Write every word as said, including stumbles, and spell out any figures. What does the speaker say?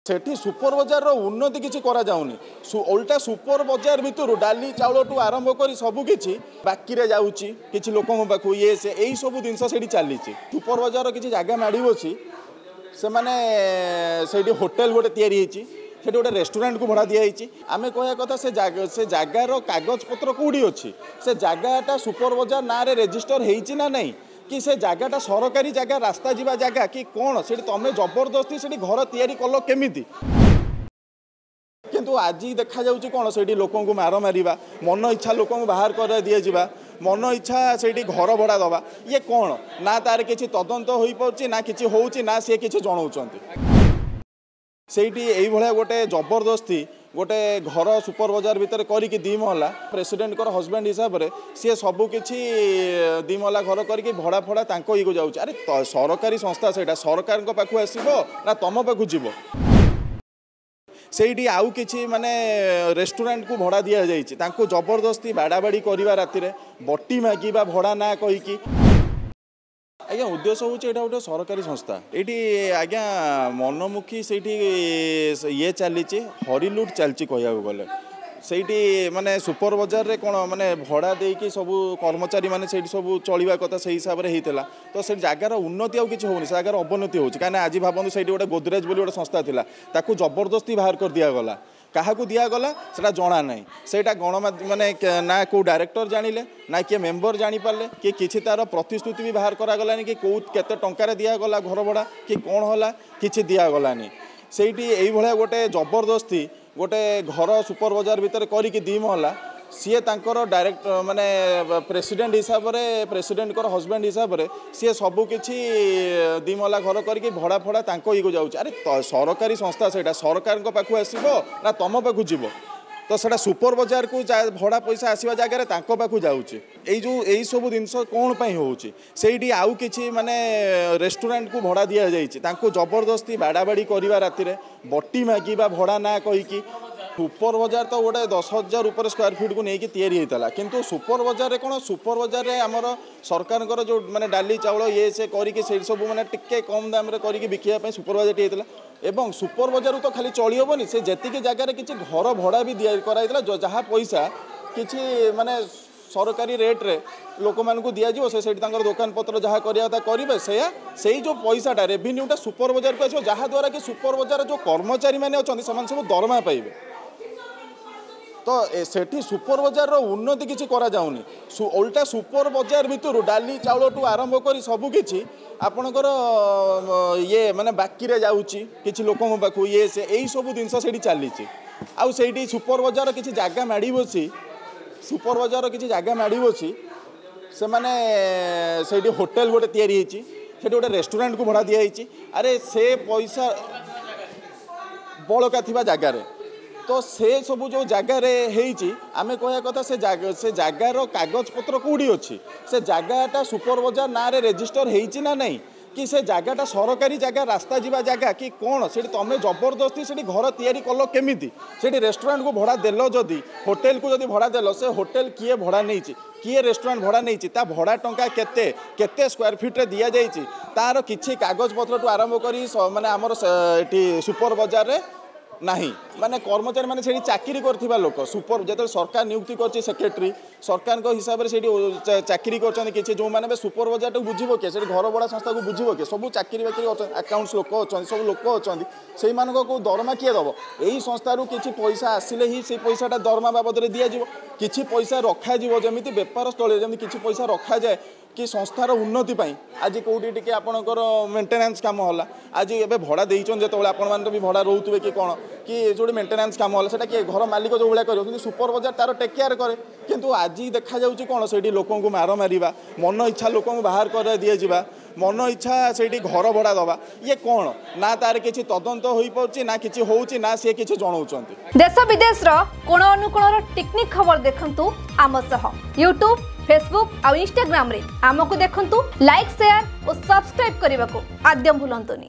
ସେଠି ସୁପର ବଜାରର ଉନ୍ନତି କିଛି କରାଯାଉନି। ଓଲଟା ସୁପର ବଜାର ଭିତରୁ ଡାଲି ଚାଉଳଠୁ ଆରମ୍ଭ କରି ସବୁ କିଛି ବାକିରେ ଯାଉଛି କିଛି ଲୋକଙ୍କ ପାଖକୁ, ଇଏ ସେ ଏଇସବୁ ଜିନିଷ ସେଇଠି ଚାଲିଛି। ସୁପର ବଜାରର କିଛି ଜାଗା ମାଡ଼ି ବସି ସେମାନେ ସେଇଠି ହୋଟେଲ ଗୋଟେ ତିଆରି ହେଇଛି, ସେଠି ଗୋଟେ ରେଷ୍ଟୁରାଣ୍ଟକୁ ଭଡ଼ା ଦିଆହେଇଛି। ଆମେ କହିବା କଥା ସେ ଜାଗା ସେ ଜାଗାର କାଗଜପତ୍ର କେଉଁଠି ଅଛି? ସେ ଜାଗାଟା ସୁପର ବଜାର ନାଁରେ ରେଜିଷ୍ଟର ହେଇଛି ନା ନାହିଁ, କି ସେ ଜାଗାଟା ସରକାରୀ ଜାଗା, ରାସ୍ତା ଯିବା ଜାଗା କି କ'ଣ? ସେଠି ତମେ ଜବରଦସ୍ତି ସେଠି ଘର ତିଆରି କଲ କେମିତି? କିନ୍ତୁ ଆଜି ଦେଖାଯାଉଛି କ'ଣ, ସେଇଠି ଲୋକଙ୍କୁ ମାର ମାରିବା, ମନ ଇଚ୍ଛା ଲୋକଙ୍କୁ ବାହାର କରାଇ ଦିଆଯିବା, ମନ ଇଚ୍ଛା ସେଇଠି ଘର ଭଡ଼ା ଦେବା, ଇଏ କ'ଣ? ନା ତାର କିଛି ତଦନ୍ତ ହୋଇପାରୁଛି, ନା କିଛି ହେଉଛି, ନା ସିଏ କିଛି ଜଣାଉଛନ୍ତି। ସେଇଠି ଏଇଭଳିଆ ଗୋଟେ ଜବରଦସ୍ତି ଗୋଟେ ଘର ସୁପର ବଜାର ଭିତରେ କରିକି ଦୁଇ ମହଲା, ପ୍ରେସିଡେଣ୍ଟଙ୍କର ହଜବେଣ୍ଡ ହିସାବରେ ସିଏ ସବୁକିଛି ଦୁଇ ମହଲା ଘର କରିକି ଭଡ଼ା ଫଡ଼ା ତାଙ୍କ ଇଏକୁ ଯାଉଛି। ଆରେ ସରକାରୀ ସଂସ୍ଥା, ସେଇଟା ସରକାରଙ୍କ ପାଖକୁ ଆସିବ ନା ତମ ପାଖକୁ ଯିବ? ସେଇଠି ଆଉ କିଛି ମାନେ ରେଷ୍ଟୁରାଣ୍ଟକୁ ଭଡ଼ା ଦିଆଯାଇଛି, ତାଙ୍କୁ ଜବରଦସ୍ତି ବାଡ଼ାବାଡ଼ି କରିବା, ରାତିରେ ବଟି ମାଗିବା ଭଡ଼ା ନା କହିକି। ଆଜ୍ଞା ଉଦ୍ଦେଶ୍ୟ ହେଉଛି ଏଇଟା ଗୋଟେ ସରକାରୀ ସଂସ୍ଥା, ଏଇଠି ଆଜ୍ଞା ମନମୁଖୀ ସେଇଠି ଇଏ ଚାଲିଛି, ହରିଲୁଟ୍ ଚାଲିଛି କହିବାକୁ ଗଲେ। ସେଇଠି ମାନେ ସୁପର ବଜାରରେ କ'ଣ ମାନେ ଭଡ଼ା ଦେଇକି ସବୁ କର୍ମଚାରୀମାନେ ସେଇଠି ସବୁ ଚଳିବା କଥା, ସେଇ ହିସାବରେ ହେଇଥିଲା। ତ ସେ ଜାଗାର ଉନ୍ନତି ଆଉ କିଛି ହେଉନି, ସେ ଜାଗାର ଅବନତି ହେଉଛି। କାହିଁକିନା ଆଜି ଭାବନ୍ତୁ ସେଇଠି ଗୋଟେ ଗୋଦରେଜ ବୋଲି ଗୋଟେ ସଂସ୍ଥା ଥିଲା, ତାକୁ ଜବରଦସ୍ତି ବାହାର କରି ଦିଆଗଲା। କାହାକୁ ଦିଆଗଲା ସେଇଟା ଜଣା ନାହିଁ। ସେଇଟା ଗଣମାଧ୍ୟମ ମାନେ ନା କେଉଁ ଡାଇରେକ୍ଟର ଜାଣିଲେ, ନା କିଏ ମେମ୍ବର ଜାଣିପାରିଲେ, କି କିଛି ତାର ପ୍ରତିଶ୍ରୁତି ବି ବାହାର କରାଗଲାନି, କି କେଉଁ କେତେ ଟଙ୍କାରେ ଦିଆଗଲା ଘର ଭଡ଼ା କି କ'ଣ ହେଲା, କିଛି ଦିଆଗଲାନି। ସେଇଠି ଏଇଭଳିଆ ଗୋଟେ ଜବରଦସ୍ତି ଗୋଟେ ଘର ସୁପର ବଜାର ଭିତରେ କରିକି ଦୁଇ ମହଲା, ସିଏ ତାଙ୍କର ଡାଇରେକ୍ଟ ମାନେ ପ୍ରେସିଡେଣ୍ଟ ହିସାବରେ, ପ୍ରେସିଡେଣ୍ଟଙ୍କର ହଜବେଣ୍ଡ ହିସାବରେ ସିଏ ସବୁକିଛି ଦୁଇ ମହଲା ଘର କରିକି ଭଡ଼ା ଫଡ଼ା ତାଙ୍କ ଇଏକୁ ଯାଉଛି। ଆରେ ସରକାରୀ ସଂସ୍ଥା, ସେଇଟା ସରକାରଙ୍କ ପାଖକୁ ଆସିବ ନା ତମ ପାଖକୁ ଯିବ? ତ ସେଇଟା ସୁପର ବଜାରକୁ ଭଡ଼ା ପଇସା ଆସିବା ଜାଗାରେ ତାଙ୍କ ପାଖକୁ ଯାଉଛି। ଏଇ ଯେଉଁ ଏଇସବୁ ଜିନିଷ କ'ଣ ପାଇଁ ହେଉଛି? ସେଇଠି ଆଉ କିଛି ମାନେ ରେଷ୍ଟୁରାଣ୍ଟକୁ ଭଡ଼ା ଦିଆଯାଇଛି, ତାଙ୍କୁ ଜବରଦସ୍ତି ବାଡ଼ାବାଡ଼ି କରିବା, ରାତିରେ ବଟି ମାଗିବା ଭଡ଼ା ନା କହିକି। ସୁପର ବଜାର ତ ଗୋଟେ ଦଶ ହଜାର ଉପରେ ସ୍କୋୟାର ଫିଟ୍କୁ ନେଇକି ତିଆରି ହେଇଥିଲା, କିନ୍ତୁ ସୁପର ବଜାରରେ କ'ଣ, ସୁପର ବଜାରରେ ଆମର ସରକାରଙ୍କର ଯେଉଁ ମାନେ ଡାଲି ଚାଉଳ ଇଏ ସେ କରିକି ସେଇଠି ସବୁ ମାନେ ଟିକେ କମ୍ ଦାମରେ କରିକି ବିକିବା ପାଇଁ ସୁପର ବଜାରଟି ହେଇଥିଲା। ଏବଂ ସୁପର ବଜାରରୁ ତ ଖାଲି ଚଳି ହେବନି, ସେ ଯେତିକି ଜାଗାରେ କିଛି ଘର ଭଡ଼ା ବି ଦିଆ କରାଯାଇଥିଲା, ଯାହା ପଇସା କିଛି ମାନେ ସରକାରୀ ରେଟ୍ରେ ଲୋକମାନଙ୍କୁ ଦିଆଯିବ, ସେ ସେଇଠି ତାଙ୍କର ଦୋକାନ ପତ୍ର ଯାହା କରିବା କଥା କରିବେ। ସେଇଆ ସେଇ ଯେଉଁ ପଇସାଟା ରେଭିନ୍ୟୁଟା ସୁପର ବଜାରକୁ ଆସିବ, ଯାହାଦ୍ୱାରା କି ସୁପର ବଜାର ଯେଉଁ କର୍ମଚାରୀମାନେ ଅଛନ୍ତି ସେମାନେ ସବୁ ଦରମା ପାଇବେ। ତ ସେଠି ସୁପର ବଜାରର ଉନ୍ନତି କିଛି କରାଯାଉନି। ଓଲଟା ସୁପର ବଜାର ଭିତରୁ ଡାଲି ଚାଉଳଠୁ ଆରମ୍ଭ କରି ସବୁକିଛି ଆପଣଙ୍କର ଇଏ ମାନେ ବାକିରେ ଯାଉଛି କିଛି ଲୋକଙ୍କ ପାଖକୁ, ଇଏ ସେ ଏଇସବୁ ଜିନିଷ ସେଇଠି ଚାଲିଛି। ଆଉ ସେଇଠି ସୁପର ବଜାର କିଛି ଜାଗା ମାଡ଼ି ବସି ସୁପର ବଜାରର କିଛି ଜାଗା ମାଡ଼ି ବସି ସେମାନେ ସେଇଠି ହୋଟେଲ ଗୋଟେ ତିଆରି ହେଇଛି, ସେଠି ଗୋଟେ ରେଷ୍ଟୁରାଣ୍ଟକୁ ଭଡ଼ା ଦିଆହେଇଛି। ଆରେ ସେ ପଇସା ବଳକା ଥିବା ଜାଗାରେ ତ ସେ ସବୁ ଯେଉଁ ଜାଗାରେ ହେଇଛି, ଆମେ କହିବା କଥା ସେ ଜାଗା ସେ ଜାଗାର କାଗଜପତ୍ର କେଉଁଠି ଅଛି? ସେ ଜାଗାଟା ସୁପର ବଜାର ନାଁରେ ରେଜିଷ୍ଟର ହେଇଛି ନା ନାହିଁ, କି ସେ ଜାଗାଟା ସରକାରୀ ଜାଗା, ରାସ୍ତା ଯିବା ଜାଗା କି କ'ଣ? ସେଠି ତମେ ଜବରଦସ୍ତି ସେଠି ଘର ତିଆରି କଲ କେମିତି? ସେଠି ରେଷ୍ଟୁରାଣ୍ଟକୁ ଭଡ଼ା ଦେଲ, ଯଦି ହୋଟେଲକୁ ଯଦି ଭଡ଼ା ଦେଲ, ସେ ହୋଟେଲ କିଏ ଭଡ଼ା ନେଇଛି, କିଏ ରେଷ୍ଟୁରାଣ୍ଟ ଭଡ଼ା ନେଇଛି, ତା ଭଡ଼ା ଟଙ୍କା କେତେ, କେତେ ସ୍କୋୟାର ଫିଟ୍ରେ ଦିଆଯାଇଛି, ତାର କିଛି କାଗଜପତ୍ରଠୁ ଆରମ୍ଭ କରି ମାନେ ଆମର ଏଠି ସୁପର ବଜାରରେ ନାହିଁ। ମାନେ କର୍ମଚାରୀମାନେ ସେଇଠି ଚାକିରି କରିଥିବା ଲୋକ, ସୁପର ଯେତେବେଳେ ସରକାର ନିଯୁକ୍ତି କରିଛି ସେକ୍ରେଟାରୀ, ସରକାରଙ୍କ ହିସାବରେ ସେଇଠି ଚାକିରି କରିଛନ୍ତି କିଛି ଯେଉଁମାନେ, ଏବେ ସୁପର ବଜାରଟାକୁ ବୁଝିବ କିଏ? ସେଠି ଘର ଭଡ଼ା ସଂସ୍ଥାକୁ ବୁଝିବ କିଏ? ସବୁ ଚାକିରି ବାକିରି ଅଛନ୍ତି, ଆକାଉଣ୍ଟସ୍ ଲୋକ ଅଛନ୍ତି, ସବୁ ଲୋକ ଅଛନ୍ତି, ସେଇମାନଙ୍କୁ ଦରମା କିଏ ଦେବ? ଏଇ ସଂସ୍ଥାରୁ କିଛି ପଇସା ଆସିଲେ ହିଁ ସେଇ ପଇସାଟା ଦରମା ବାବଦରେ ଦିଆଯିବ, କିଛି ପଇସା ରଖାଯିବ। ଯେମିତି ବେପାର ସ୍ଥଳୀରେ ଯେମିତି କିଛି ପଇସା ରଖାଯାଏ କି ସଂସ୍ଥାର ଉନ୍ନତି ପାଇଁ, ଆଜି କେଉଁଠି ଟିକେ ଆପଣଙ୍କର ମେଣ୍ଟେନାନ୍ସ କାମ ହେଲା, ଆଜି ଏବେ ଭଡ଼ା ଦେଇଛନ୍ତି ଯେତେବେଳେ ଆପଣମାନେ ତ ବି ଭଡ଼ା ରହୁଥିବେ କି କ'ଣ, କି ଯେଉଁଠି ମେଣ୍ଟେନାନ୍ସ କାମ ହେଲା ସେଇଟା କିଏ ଘର ମାଲିକ ଯେଉଁ ଭଳିଆ କରିବ, କିନ୍ତୁ ସୁପର ବଜାର ତାର ଟେକ୍ କେୟାର କରେ। କିନ୍ତୁ ଆଜି ଦେଖାଯାଉଛି କ'ଣ, ସେଇଠି ଲୋକଙ୍କୁ ମାର ମାରିବା, ମନ ଇଚ୍ଛା ଲୋକଙ୍କୁ ବାହାର କରାଇ ଦିଆଯିବା, ମନ ଇଚ୍ଛା ସେଇଠି ଘର ଭଡ଼ା ଦେବା, ଇଏ କ'ଣ? ନା ତାର କିଛି ତଦନ୍ତ ହୋଇପାରୁଛି, ନା କିଛି ହେଉଛି, ନା ସିଏ କିଛି ଜଣାଉଛନ୍ତି। ଦେଶ ବିଦେଶର କୋଣ ଅନୁକୋଣର ଟିକ୍ନିକ୍ ଖବର ଦେଖନ୍ତୁ ଆମ ସହ ୟୁଟ୍ୟୁବ୍, ଫେସବୁକ୍ ଆଉ ଇନଷ୍ଟାଗ୍ରାମରେ ଆମକୁ ଦେଖନ୍ତୁ। ଲାଇକ୍, ସେୟାର ଓ ସବସ୍କ୍ରାଇବ୍ କରିବାକୁ ଆଦ୍ୟ ଭୁଲନ୍ତୁନି।